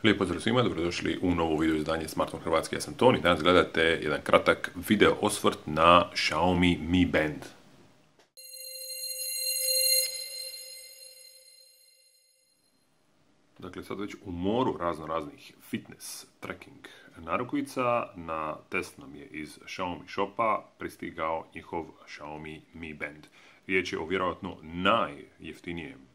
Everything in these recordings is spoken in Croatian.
Lijep pozdrav svima, dobrodošli u novo video izdanje Smartphone Hrvatski. Ja sam Toni, danas gledate jedan kratak video osvrt na Xiaomi Mi Band. Dakle, sad već u moru raznih fitness tracking narukvica, na test nam je iz Xiaomi shopa pristigao njihov Xiaomi Mi Band. Riječ je o vjerojatno najjeftinijem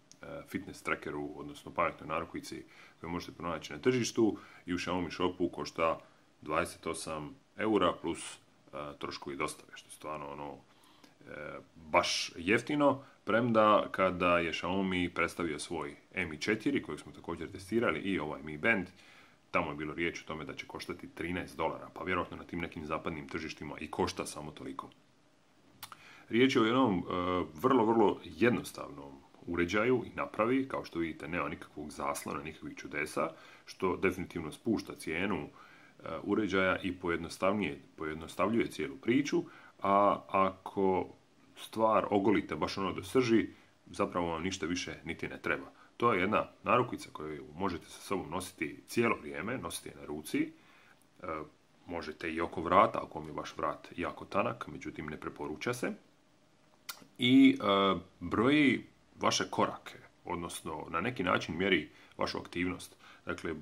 fitness trackeru, odnosno pametnoj narukvici koju možete pronaći na tržištu i u Xiaomi shopu košta 28 eura plus troškovi dostave, što je stvarno baš jeftino, premda kada je Xiaomi predstavio svoj Mi 4 kojeg smo također testirali i ovaj Mi Band, tamo je bilo riječ o tome da će koštati $13, pa vjerojatno na tim nekim zapadnim tržištima i košta samo toliko. Riječ je o jednom vrlo jednostavnom uređaju i napravi, kao što vidite nema nikakvog zaslona, nikakvih čudesa, što definitivno spušta cijenu uređaja i pojednostavljuje cijelu priču, a ako stvar ogolite baš ono do srži, zapravo vam ništa više niti ne treba. To je jedna narukvica koju možete sa sobom nositi cijelo vrijeme, nositi je na ruci, možete i oko vrata, ako vam je vaš vrat jako tanak, međutim ne preporuča se, i broji vaše korake, odnosno na neki način mjeri vašu aktivnost. Dakle,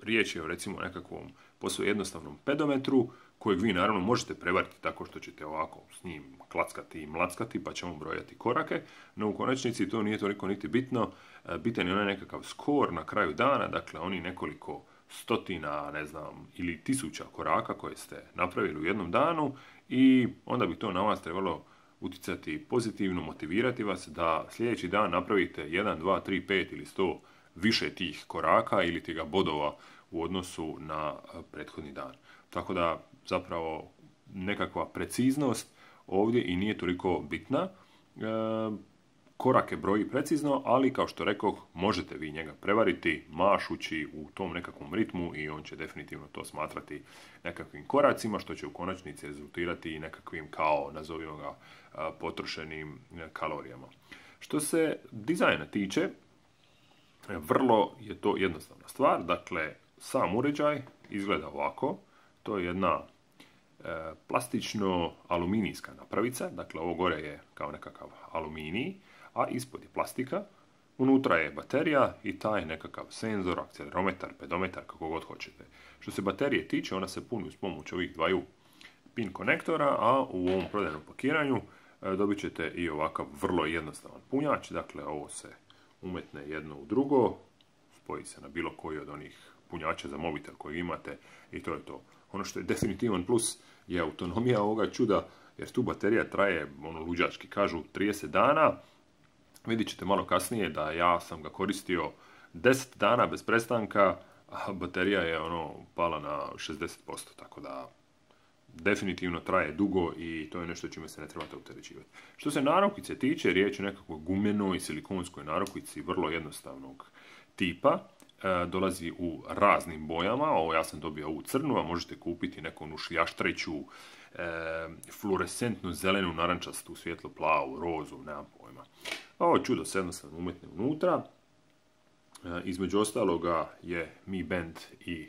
riječ je o recimo nekakvom posve jednostavnom pedometru kojeg vi naravno možete prevariti tako što ćete ovako s njim klackati i mlackati pa ćemo brojati korake, no u konačnici to nije toliko niti bitno. Bitan je onaj nekakav skor na kraju dana, dakle oni nekoliko stotina, ne znam, ili tisuća koraka koje ste napravili u jednom danu i onda bi to na vas trebalo utjecati pozitivno, motivirati vas da sljedeći dan napravite 1, 2, 3, 5 ili 100 više tih koraka ili tih bodova u odnosu na prethodni dan. Tako da zapravo nekakva preciznost ovdje i nije toliko bitna. Korake broji precizno, ali kao što rekoh, možete vi njega prevariti mašući u tom nekakvom ritmu i on će definitivno to smatrati nekakvim koracima, što će u konačnici rezultirati i nekakvim kao, nazovimo ga, potrošenim kalorijama. Što se dizajna tiče, vrlo je to jednostavna stvar. Dakle, sam uređaj izgleda ovako. To je jedna plastično-aluminijska napravica. Dakle, ovo gore je kao nekakav aluminij, a ispod je plastika. Unutra je baterija i taj nekakav senzor, akcelerometar, pedometar, kako god hoćete. Što se baterije tiče, ona se puni uz pomoć ovih dvaju pin konektora, a u ovom prodajnom pakiranju dobit ćete i ovakav vrlo jednostavan punjač. Dakle, ovo se umetne jedno u drugo, spoji se na bilo koji od onih punjača za mobitel koji imate i to je to. Ono što je definitivan plus je autonomija ovoga čuda, jer tu baterija traje, luđački kažu, 30 dana. Vidjet ćete malo kasnije da ja sam ga koristio 10 dana bez prestanka, a baterija je pala na 60%, tako da definitivno traje dugo i to je nešto čime se ne trebate opterećivati. Što se narukvice tiče, riječ je o nekakvoj gumenoj silikonskoj narukvici vrlo jednostavnog tipa. Dolazi u raznim bojama, ovo ja sam dobio ovu crnu, a možete kupiti neku šljaštreću, fluorescentnu, zelenu, narančastu, svjetlo plavu, rozu, nemam pojma. Ovo čudo se jednostavno umetne unutra. Između ostaloga je Mi Band i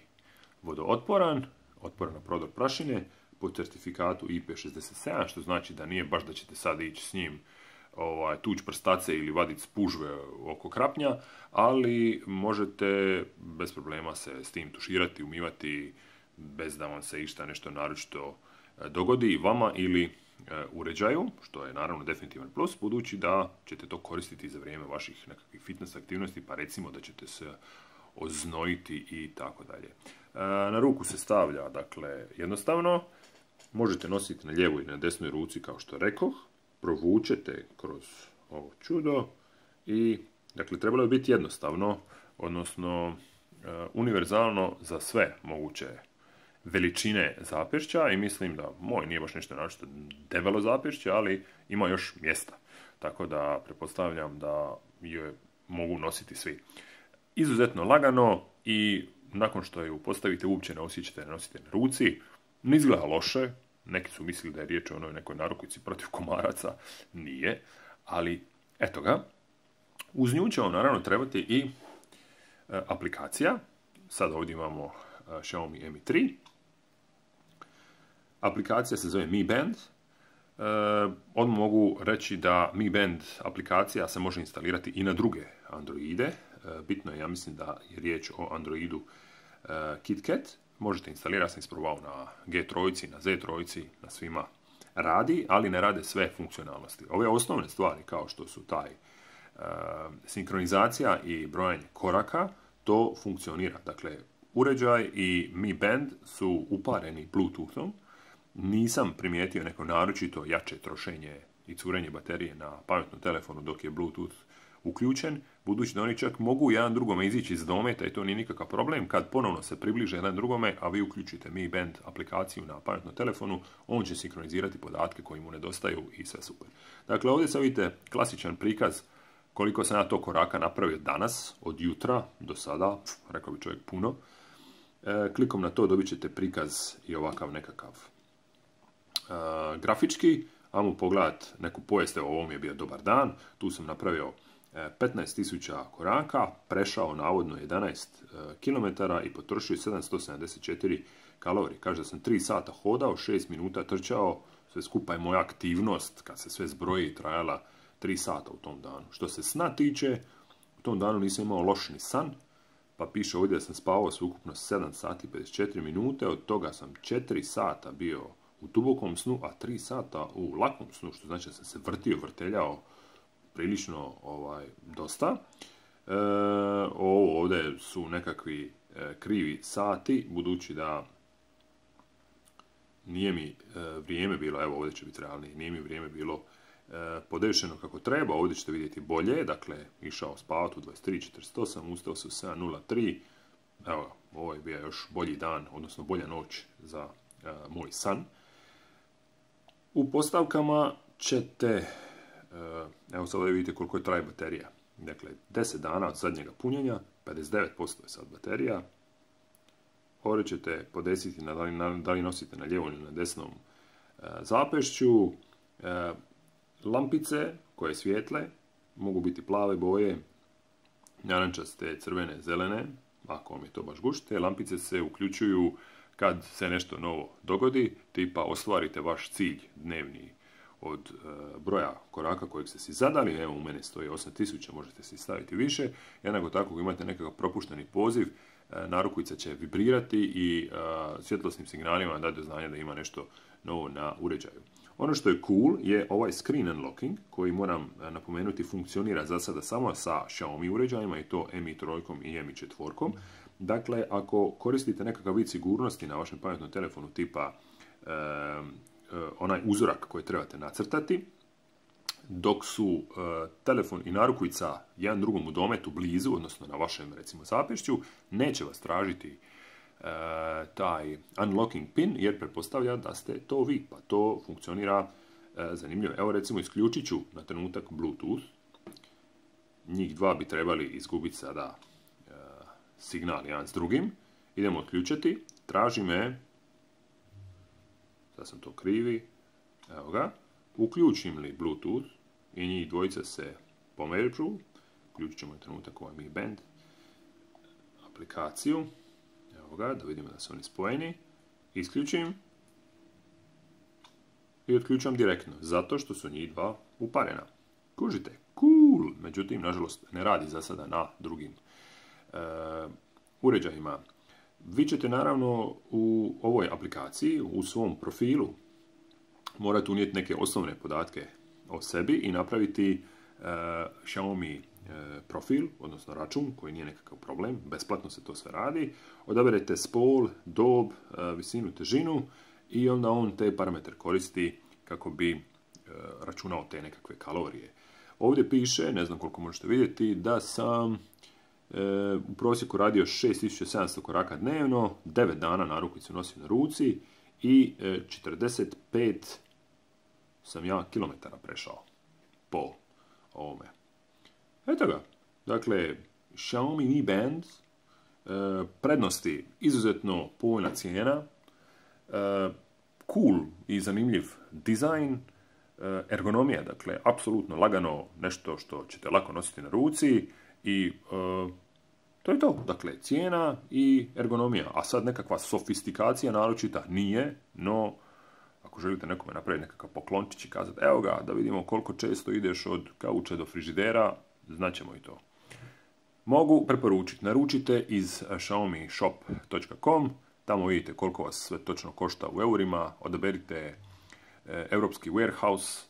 vodootporan, otporan na prodor prašine, po certifikatu IP67, što znači da nije baš da ćete sad ići s njim tuć prstace ili vaditi spužve oko krapnja, ali možete bez problema se s tim tuširati, umivati bez da vam se išta nešto naročito dogodi vama ili uređaju, što je naravno definitivan plus, budući da ćete to koristiti za vrijeme vaših nekakvih fitness aktivnosti, pa recimo da ćete se oznojiti i tako dalje. Na ruku se stavlja, dakle, jednostavno, možete nositi na lijevoj i na desnoj ruci, kao što rekoh, provučete kroz ovo čudo i, dakle, trebalo je biti jednostavno, odnosno univerzalno za sve moguće veličine zapešća i mislim da moj nije baš nešto naročito debelo zapešće, ali ima još mjesta, tako da pretpostavljam da je mogu nositi svi. Izuzetno lagano i nakon što ju postavite uopće ne osjećate da nosite na ruci, ne izgleda loše. Neki su mislili da je riječ o nekoj narukvici protiv komaraca, nije, ali eto ga. Uz nju će vam naravno trebati i aplikacija sad ovdje imamo Xiaomi Mi 3. Aplikacija se zove Mi Band. Odmah mogu reći da Mi Band aplikacija se može instalirati i na druge Androide. Bitno je, ja mislim da je riječ o Androidu KitKat. Možete instalirati, ja sam isprobao na G3, na Z3, na svima radi, ali ne rade sve funkcionalnosti. Ove osnovne stvari kao što su taj sinkronizacija i brojanje koraka, to funkcionira. Dakle, uređaj i Mi Band su upareni Bluetoothom. Nisam primijetio neko naročito jače trošenje i curenje baterije na pametnom telefonu dok je Bluetooth uključen, budući da oni čak mogu jedan drugome izići iz dometa i to nije nikakav problem. Kad ponovno se približe jedan drugome, a vi uključite Mi Band aplikaciju na pametnom telefonu, on će sinkronizirati podatke koji mu nedostaju i sve super. Dakle, ovdje se vidite klasičan prikaz koliko sam ja to koraka napravio danas, od jutra do sada, rekao bi čovjek puno. Klikom na to dobit ćete prikaz i ovakav nekakav grafički. Ajmo pogledati neku povijest, evo ovo mi je bio dobar dan, tu sam napravio 15.000 koraka, prešao navodno 11 km i potrošio 774 kalorije. Kaže da sam 3 sata hodao, 6 minuta trčao, sve skupa je moja aktivnost, kad se sve zbroji, trajala 3 sata u tom danu. Što se sna tiče, u tom danu nisam imao loš ni san, pa piše ovdje da sam spavao sveukupno 7 sati i 54 minute, od toga sam 4 sata bio u dubokom snu, a 3 sata u lakom snu, što znači da sam se vrteljao prilično dosta. Ovo ovdje su nekakvi krivi sati, budući da nije mi vrijeme bilo, evo ovdje će biti realnije, nije mi vrijeme bilo podešeno kako treba, ovdje ćete vidjeti bolje, dakle, išao spavati u 23.48, ustao se u 7.03, evo, ovo je bio još bolji dan, odnosno bolja noć za moj san. U postavkama ćete, evo sad ovdje vidite koliko je traje baterija, dakle, 10 dana od zadnjega punjenja, 59% je sad baterija, ovdje ćete podesiti da li nosite na lijevom ili na desnom zapešću. Lampice koje svijetle mogu biti plave boje, narančaste, crvene, zelene, ako vam je to baš gušt. Te lampice se uključuju kad se nešto novo dogodi, tipa ostvarite vaš cilj dnevni od broja koraka kojeg ste si zadali. Evo, u mene stoji 8000, možete si staviti više. Jednako tako, ako imate nekakav propušteni poziv, narukvica će vibrirati i svjetlosnim signalima dati do znanja da ima nešto novo na uređaju. Ono što je cool je ovaj screen unlocking, koji moram napomenuti funkcionira za sada samo sa Xiaomi uređajima, i to Mi 3 i Mi 4. Dakle, ako koristite nekakav vid sigurnosti na vašem pametnom telefonu tipa onaj uzorak koji trebate nacrtati, dok su telefon i narukvica jedan drugom u dometu blizu, odnosno na vašem, recimo, zapešću, neće vas tražiti taj unlocking pin, jer pretpostavlja da ste to vi, pa to funkcionira zanimljivo. Evo, recimo, isključit ću na trenutak Bluetooth. Njih dva bi trebali izgubiti sada signal jedan s drugim. Idemo otključati. Traži me, sad sam to krivi, evo ga, uključim li Bluetooth i njih dvojica se pomeđu. Uključit ćemo na trenutak ovaj Mi Band aplikaciju. Evo ga, da vidimo da su oni spojeni. Isključim i otključam direktno, zato što su njih dva uparena. Kužite, cool! Međutim, nažalost, ne radi za sada na drugim uređajima. Vi ćete naravno u ovoj aplikaciji, u svom profilu, morate unijeti neke osnovne podatke o sebi i napraviti Xiaomi profil, odnosno račun, koji nije nekakav problem, besplatno se to sve radi. Odaberete spol, dob, visinu, težinu i onda on te parametre koristi kako bi računao te nekakve kalorije. Ovdje piše, ne znam koliko možete vidjeti, da sam u prosjeku radio 6700 koraka dnevno, 9 dana narukvicu nosim na ruci i 45 sam ja kilometara prešao po ovome. Eto ga. Dakle, Xiaomi Mi Band, prednosti izuzetno povoljna cijena, cool i zanimljiv dizajn, ergonomija, dakle, apsolutno lagano, nešto što ćete lako nositi na ruci i To je to. Dakle, cijena i ergonomija. A sad nekakva sofistikacija naročita nije, no ako želite nekome napraviti nekakav poklončić i kazati evo ga, da vidimo koliko često ideš od kauča do frižidera, znaćemo i to. Mogu preporučiti, naručite iz xiaomishop.com, tamo vidite koliko vas sve točno košta u eurima, odaberite europski warehouse,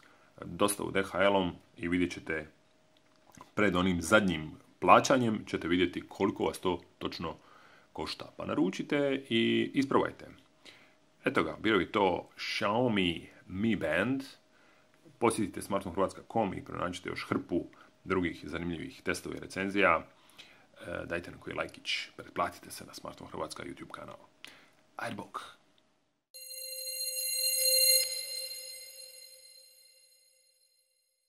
dostavu DHL-om i vidjet ćete pred onim zadnjim plaćanjem ćete vidjeti koliko vas to točno košta. Pa naručite i isprobajte. Eto ga, bilo je to Xiaomi Mi Band. Posjetite smartphone.hrvatska.com i pronađite još hrpu drugih zanimljivih testova i recenzija. Dajte na koji lajkić, pretplatite se na Smartphone Hrvatska YouTube kanal. Ajde bok!